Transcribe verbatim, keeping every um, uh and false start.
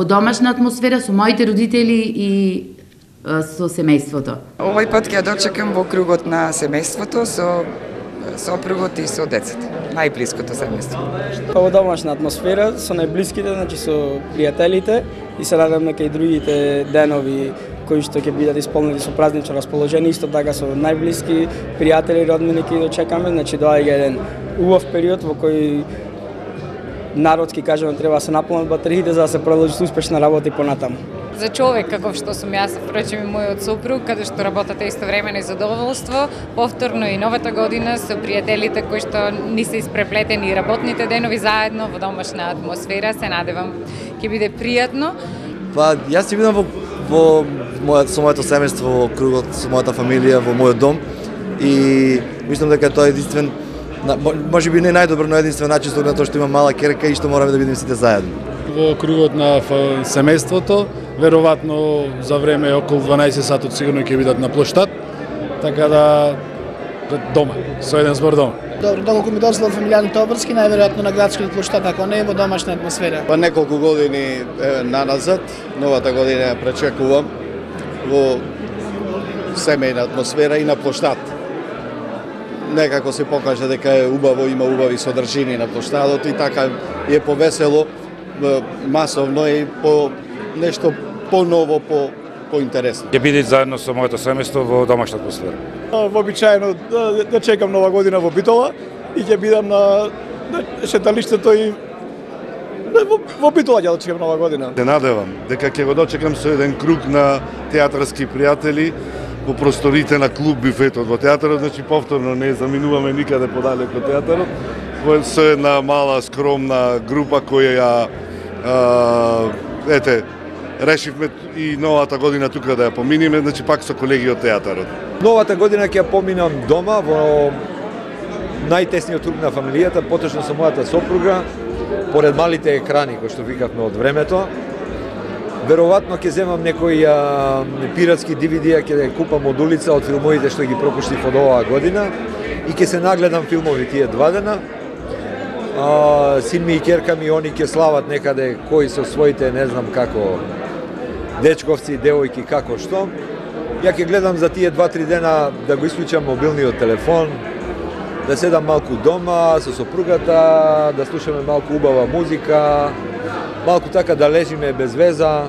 Во домашна атмосфера со моите родители и со семејството. Овој пат ќе ја дочекам во кругот на семејството со сопругот и со децата. Најблиското семејство. Во домашна атмосфера со најблиските, значи со пријателите, и се надевам дека и другите денови кои што ќе бидат исполнети со празнично расположение, исто така со најблиски пријатели и роднини ќе дочекаме, значи доаѓа еден убав период во кој народски кажано треба да се наполнат батериите за да се продолжи со успешна работа и понатаму. За човек каков што сум јас, впрочем и мојот сопруг, каде што работате истовремено и задоволство, повторно и новата година со пријателите кои што ни се испреплетени работните денови заедно во домашна атмосфера, се надевам ќе биде пријатно. Па јас ќе бидам во, во мојот со моето семејство, во кругот со мојата фамилија, во мојот дом и мислам дека тоа е единствен, може би не најдобро, но единствен начин со тоа што има мала керка и што мораме да бидеме сите заедно. Во кругот на семејството, веројатно за време околу дванаесет сатот сигурно ќе бидат на плоштад, така да дома, со еден збор дома. Добро, доколку ми дозволат фамилијарните обврски, најверојатно на градскиот плоштад, ако не во домашна атмосфера. Па неколку години е, наназад, новата година ја пречекувам во семејна атмосфера и на плоштад. Некако се покажа дека е убаво, има убави содржини на плоштадот и така е повесело, масовно и по нешто поново, по поинтересно. Ќе биде заедно со моето семејство во домашна атмосфера. Вообичаено да, да чекам нова година во Битола и ќе бидам на, на шеталиштето и во, во Битола ќе да чекам нова година. Се надевам дека ќе го дочекам со еден круг на театарски пријатели во просторите на клуб Бифетот во театарот, значи повторно не заминуваме никаде подалеку од театарот, во со една мала скромна група која ја а, ете решивме и новата година тука да ја поминиме, значи пак со колеги од театарот. Новата година ќе ја поминам дома во најтесниот круг на фамилијата, поточно со мојата сопруга, поред малите екрани кои што викавме од времето. Веројатно ќе земам некој а, пиратски ди ви ди, ќе купам од улица од филмовите што ги пропуштив од оваа година и ќе се нагледам филмови тие два дена. А, син ми и ќерка ми, они ќе слават некаде кои со своите, не знам како, дечковци, девојки, како што. Ја ќе гледам за тие два-три дена да го исклучам мобилниот телефон, да седам малку дома со сопругата, да слушаме малку убава музика, малку така да лежиме без веза.